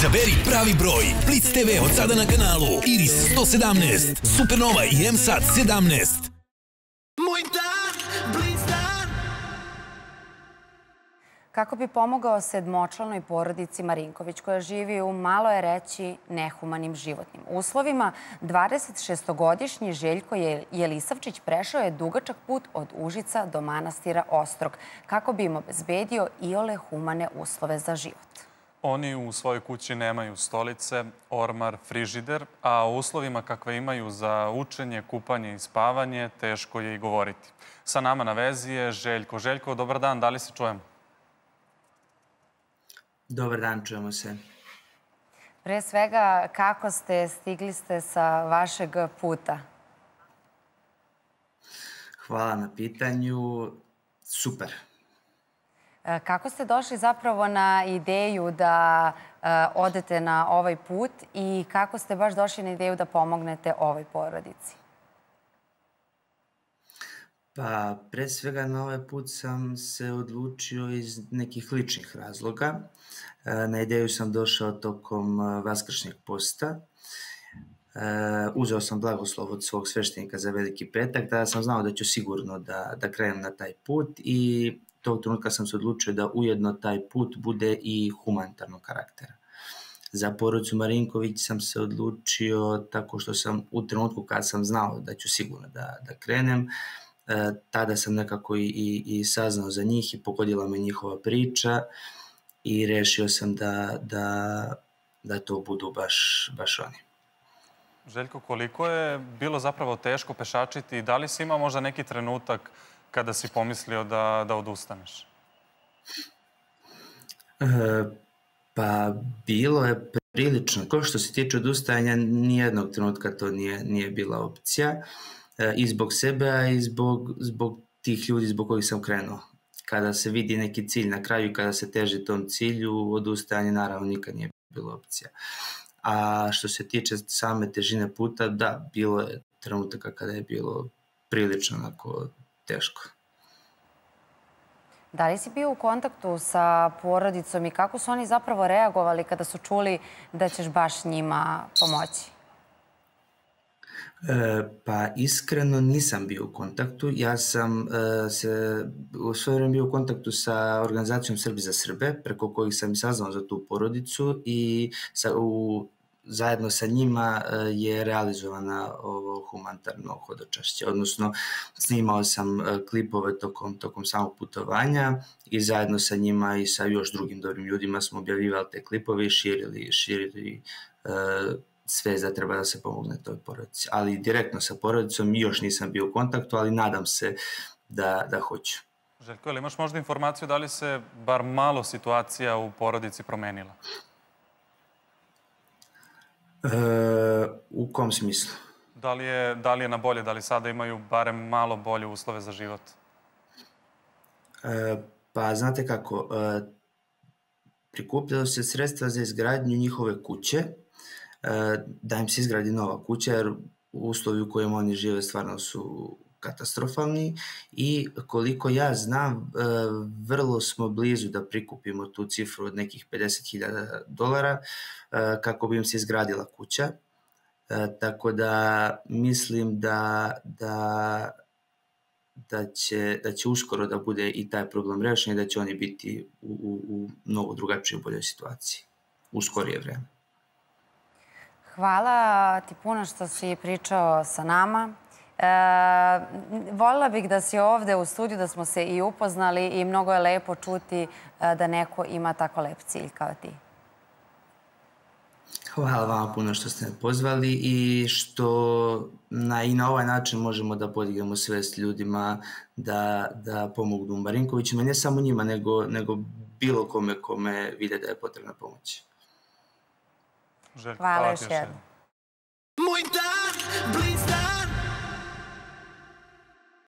Izaberi pravi broj. Blitz TV od sada na kanalu Iris 117, Supernova i MSAT 17. Moj dan, Blitz dan. Kako bi pomogao sedmočlanoj porodici Marinković, koja živi u, malo je reći, nehumanim životnim uslovima, 26-godišnji Željko Jelisavčić prešao je dugačak put od Užica do manastira Ostrog, kako bi im obezbedio iole humane uslove za život. Oni u svojoj kući nemaju stolice, ormar, frižider, a o uslovima kakve imaju za učenje, kupanje i spavanje teško je i govoriti. Sa nama na vezi je Željko. Željko, dobar dan, da li se čujemo? Dobar dan, čujemo se. Pre svega, kako stigli ste sa vašeg puta? Hvala na pitanju. Super. Kako ste došli zapravo na ideju da odete na ovaj put i kako ste baš došli na ideju da pomognete ovoj porodici? Pa, pre svega na ovaj put sam se odlučio iz nekih ličnih razloga. Na ideju sam došao tokom vaskršnjeg posta. Uzeo sam blagoslov od svog sveštenika za Veliki petak, tada sam znao da ću sigurno da krenem na taj put i tog trenutka sam se odlučio da ujedno taj put bude i humanitarnog karaktera. Za porodicu Marinković sam se odlučio tako što sam u trenutku kad sam znao da ću sigurno da krenem, tada sam nekako i saznao za njih i pogodila me njihova priča i rešio sam da to budu baš oni. Željko, koliko je bilo zapravo teško pešačiti i da li si imao možda neki trenutak kada si pomislio da odustaneš? Pa bilo je prilično. Ko što se tiče odustajanja, nijednog trenutka to nije bila opcija. I zbog sebe, a i zbog tih ljudi zbog kojih sam krenuo. Kada se vidi neki cilj na kraju i kada se teži tom cilju, odustajanje naravno nikad nije bilo opcija. A što se tiče same težine puta, da, bilo je trenutaka kada je bilo prilično onako teško. Da li si bio u kontaktu sa porodicom i kako su oni zapravo reagovali kada su čuli da ćeš baš njima pomoći? Pa iskreno nisam bio u kontaktu. Ja sam u svoje vreme bio u kontaktu sa organizacijom Srbi za Srbe, preko kojih sam i saznao za tu porodicu i zajedno sa njima je realizovana ovo humanitarno hodočašće. Odnosno, snimao sam klipove tokom samog putovanja i zajedno sa njima i sa još drugim dobrim ljudima smo objavljivali te klipove i širili sve da treba da se pomogne toj porodici. Ali direktno sa porodicom još nisam bio u kontaktu, ali nadam se da hoću. Željko, ili imaš možda informaciju da li se bar malo situacija u porodici promenila? U kom smislu? Da li je na bolje, da li sada imaju barem malo bolje uslove za život? Pa znate kako, prikupljalo se sredstva za izgradnju njihove kuće, da im se izgradi nova kuća, jer uslovi u kojima oni žive stvarno su katastrofalni i koliko ja znam, vrlo smo blizu da prikupimo tu cifru od nekih $50.000 kako bi im se izgradila kuća. Tako da mislim da će uskoro da bude i taj problem rešen i da će oni biti u mnogo drugačijoj boljoj situaciji u skorije vreme. Hvala ti puno što si pričao sa nama. Voljela bih da si ovde u studiju, da smo se i upoznali i mnogo je lepo čuti da neko ima tako lep cilj kao ti. Hvala vama puno što ste me pozvali i što i na ovaj način možemo da podignemo svest ljudima da pomognu Marinkovićima, ne samo njima, nego bilo kome vide da je potrebna pomoć. Hvala još jednom. Moj dan, Blitz dan.